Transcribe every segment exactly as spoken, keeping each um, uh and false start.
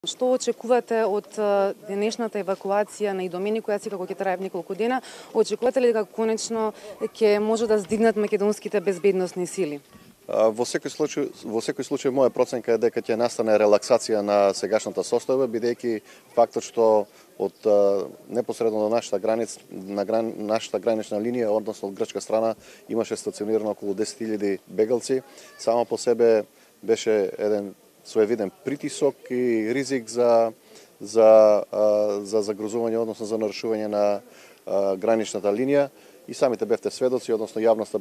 Што очекувате од денешната евакуација на Идомени, која си како ќе трае неколку дена? Очекувате ли дека конечно ќе може да здигнат македонските безбедносни сили? Во секој случај, во секој случај моја проценка е дека ќе настане релаксација на сегашната состојба, бидејќи фактот што од непосредно до нашата граница, на гран, нашата гранична линија, односно од грчка страна, имаше стационирано околу десет илјади бегалци, само по себе беше еден своевиден притисок и ризик за за за загрозување, односно за нарушување на граничната линија. И самите бевте сведоци, односно јавноста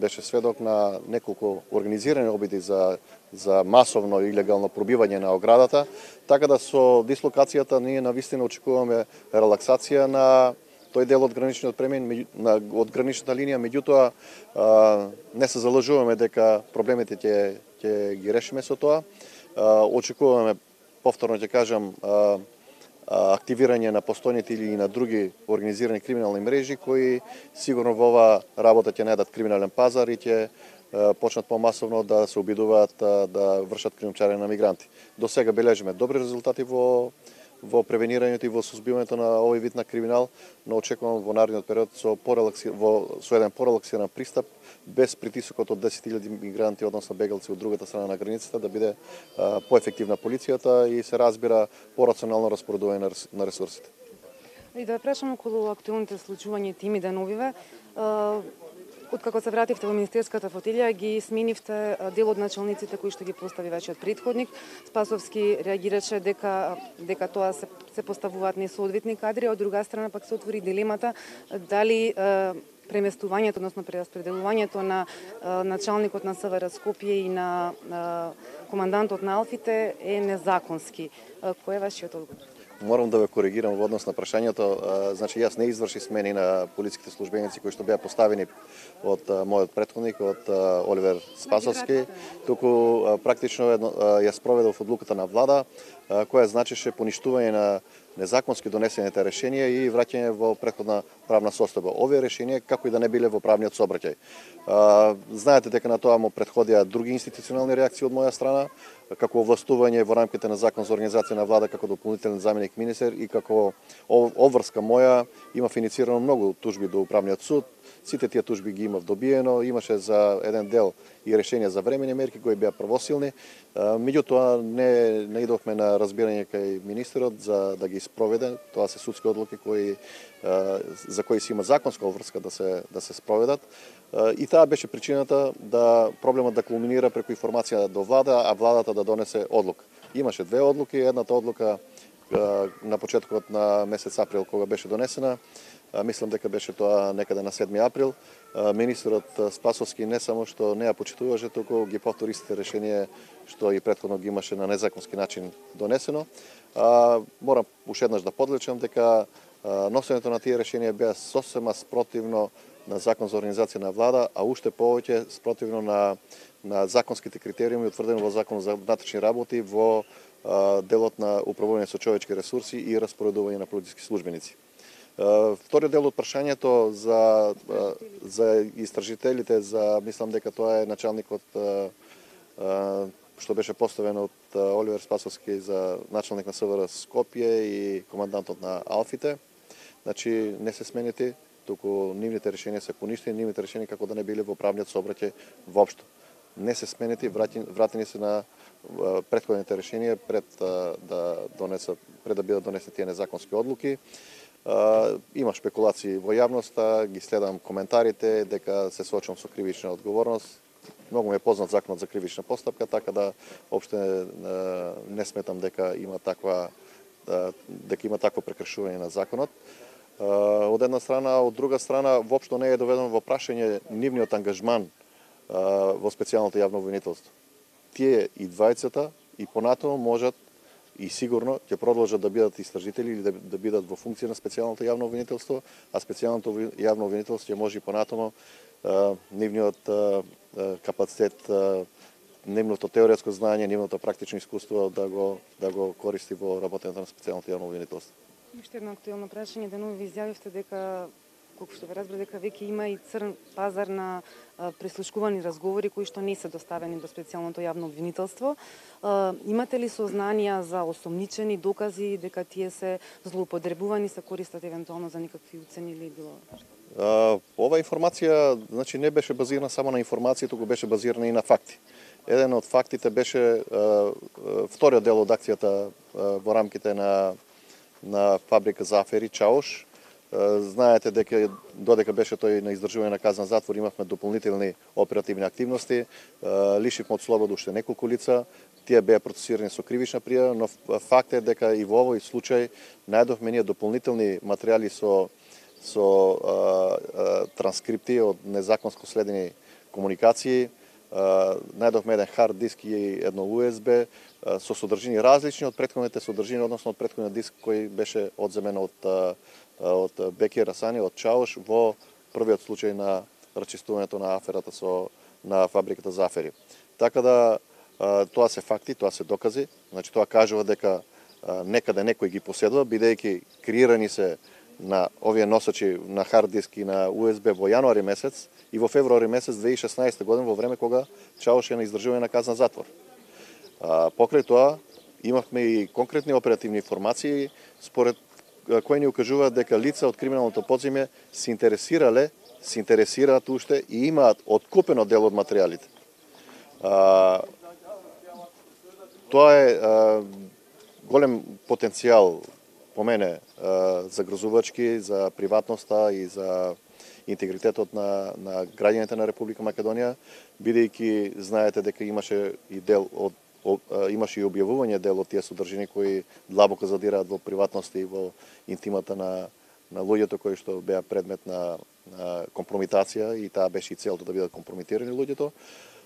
беше сведок на неколку организирани обиди за за масовно илегално пробивање на оградата, така да со дислокацијата ние навистина очекуваме релаксација на тој дел од граничниот премин, на, од граничната линија, меѓутоа не се залажуваме дека проблемите ќе ќе ги решиме со тоа. Очекуваме, повторно ќе кажам, активирање на постојните или на други организирани криминални мрежи кои сигурно во оваа работа ќе најдат криминален пазар и ќе почнат помасовно да се обидуваат да вршат криумчарење на мигранти. До сега бележиме добри резултати во во превенирањето и во сузбивањето на овој вид на криминал, но очекувам во наредниот период со порелакси, во со еден порелаксиран пристап, без притисокот од десет илјади мигранти, односно бегалци од другата страна на границата, да биде а, поефективна полицијата и се разбира порационално распоредување на, на ресурсите. И да прашам околу актуелните случувања тими деновиве. Откако се вративте во министерската фотилија, ги сменивте дел од началниците кои што ги постави вашиот претходник. Спасовски реагираше дека дека тоа се, се поставуваат несоодветни кадри, а од друга страна пак се отвори дилемата дали е, преместувањето, односно прераспределувањето на е, началникот на СВР Скопје и на е, командантот на Алфите е незаконски. Е, кој е вашиот одговор? Морам да ве коригирам во однос на прашањето. Значи, јас не изврши смени на полициските службеници кои што беа поставени од мојот претходник, од Оливер Спасовски, туку практично ја спроведов одлуката на влада, која значеше поништување на незаконски донесените решенија и враќање во претходна правна состојба. Овие решенија како и да не биле во правниот сообраќај. Знаете дека на тоа му претходија други институционални реакции од моја страна, како овластување во рамките на Закон за организација на влада како дополнителен заменик министер и како обврска моја имав инициирано многу тужби до управниот суд. Сите тие тужби ги имав добиено, имаше за еден дел и решенија за времени мерки кои беа правосилни. Меѓутоа не не идовме на разбирање кај министерот за да ги спроведе. Тоа се судски одлуки кои за кои се има законска обврска да се да се спроведат. И таа беше причината да проблемот да кулминира преку информација до влада, а владата да донесе одлука. Имаше две одлуки, едната одлука на почетокот на месец април кога беше донесена. Мислам дека беше тоа некаде на седми април. Министерот Спасовски не само што не ја почитуваше, туку ги повтори истите решенија што и претходно ги имаше на незаконски начин донесено. Морам уште еднаш да подлечам дека носењето на тие решенија беа сосема спротивно на Закон за организација на влада, а уште повеќе спротивно на на законските критериуми утврдени во Закон за внатрешни работи во делот на управување со човечки ресурси и распоредување на полициски службеници. Вториот дел од прашањето за за истражителите, за мислам дека тоа е началникот што беше поставен од Оливер Спасовски за началник на СВР Скопје и командантот на Алфите. Значи не се сменити, туку нивните решенија се поништени, нивните решенија како да не биле во правниот сообраќај воопшто. Не се сменити, вратени се на претходните решенија пред да донесат пред да бидат донесени тие незаконски одлуки. Uh, има шпекулации во јавноста, ги следам коментарите дека се соочам со кривична одговорност. Многу ми е познат законот за кривична постапка, така да опште uh, не сметам дека има таква uh, дека има такво прекршување на законот. Uh, од една страна, од друга страна воопшто не е доведено во прашање нивниот ангажман uh, во специјалното јавно обвинителство. Тие и двајцата и понатаму можат и сигурно ќе продолжат да бидат истражители или да, да бидат во функција на специјалното јавно обвинителство, а специјалното јавно обвинителство ќе може и понатаму нивниот а, капацитет, а, нивното теоретско знаење, нивното практично искуство да го да го користи во работењето на специјалното јавно обвинителство. Уште едно актуелно прашање, денови ви изјавивте дека колку што ве разбрав дека веќе има и црн пазар на прислушкувани разговори кои што не се доставени до специјалното јавно обвинителство. Имате ли сознанија за осомничени докази дека тие се злоупотребувани, се користат евентуално за никакви уцени или било? Uh, ова информација, значи, не беше базирана само на информација, туку беше базирана и на факти. Еден од фактите беше uh, вториот дел од акцијата uh, во рамките на на фабрика за афери Чауш. Uh, знаете дека додека беше тој на издржување на казна затвор, имавме дополнителни оперативни активности, uh, лишивме од слобода уште неколку лица. Тие беа процесирани со кривична пријава, но факт е дека и во овој случај најдовме ние дополнителни материјали со со а, а, транскрипти од незаконско следени комуникации. А, најдовме еден хард диск и едно У Ес Бе а, со содржини различни од претходните содржини, односно од претходниот диск кој беше одземен од, а, од Беки Расани, од Чауш, во првиот случај на расчистувањето на аферата со на фабриката за афери. Така да а, тоа се факти, тоа се докази, значи тоа кажува дека а, некаде некој ги поседува, бидејќи креирани се на овие носачи на хард диск и на У Ес Бе во јануари месец и во февруари месец две илјади и шеснаесета година, во време кога Чауш е на издржување на казна затвор. А, покрај тоа имавме и конкретни оперативни информации според кои ни укажуваат дека лица од криминалното подземје се интересирале, се интересираат уште и имаат откупено дел од материјалите. А, тоа е а, голем потенцијал по мене загрозувачки за приватноста и за интегритетот на, на граѓаните на Република Македонија, бидејќи знаете дека имаше и дел од имаше и објавување дел од тие содржини кои длабоко задираат во приватноста и во интимата на на луѓето кои што беа предмет на, на компрометација, и таа беше и целта да бидат компрометирани луѓето.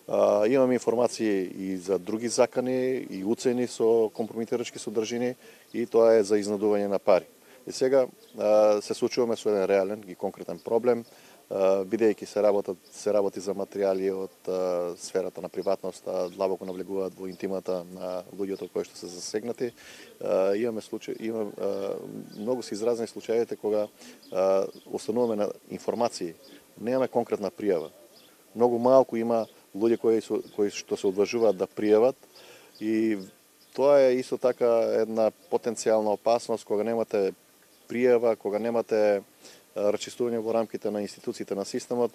Uh, имаме информации и за други закани и уцени со компрометирачки содржини, и тоа е за изнадување на пари. И сега uh, се случуваме со еден реален и конкретен проблем, uh, бидејќи се работат се работи за материјали од uh, сферата на приватноста, длабоко навлегуваат во интимата на луѓето кои што се засегнати. Uh, имаме случаи, има uh, многу се изразени случаите кога uh, остануваме на информации, немаме конкретна пријава. Многу малку има луѓе кои, кои што се одважуваат да пријават, и тоа е исто така една потенцијална опасност кога немате пријава, кога немате расчистување во рамките на институциите на системот,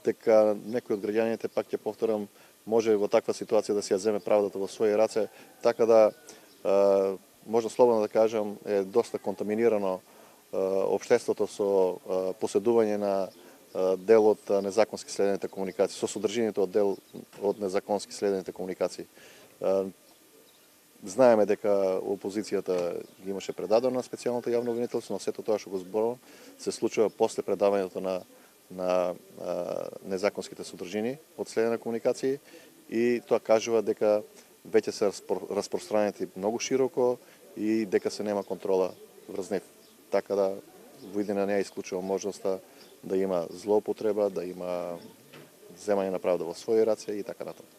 дека некој од граѓаните, пак ќе повторам, може во таква ситуација да си ја земе правдата во своји раце, така да можда слободно да кажам е доста контаминирано општеството со поседување на дел од незаконски следените комуникации, со содржините од дел од незаконски следените комуникации. Знаеме дека опозицијата ги имаше предадено на специјалното јавно обвинителство, но сето тоа што го зборувам се случува после предавањето на на незаконските содржини од следене комуникации, и тоа кажува дека веќе се распространети многу широко и дека се нема контрола врз нив. Така да во иднина не ја исклучувам можноста да има злоупотреба, да има земање на правда во своји раце и така натаму.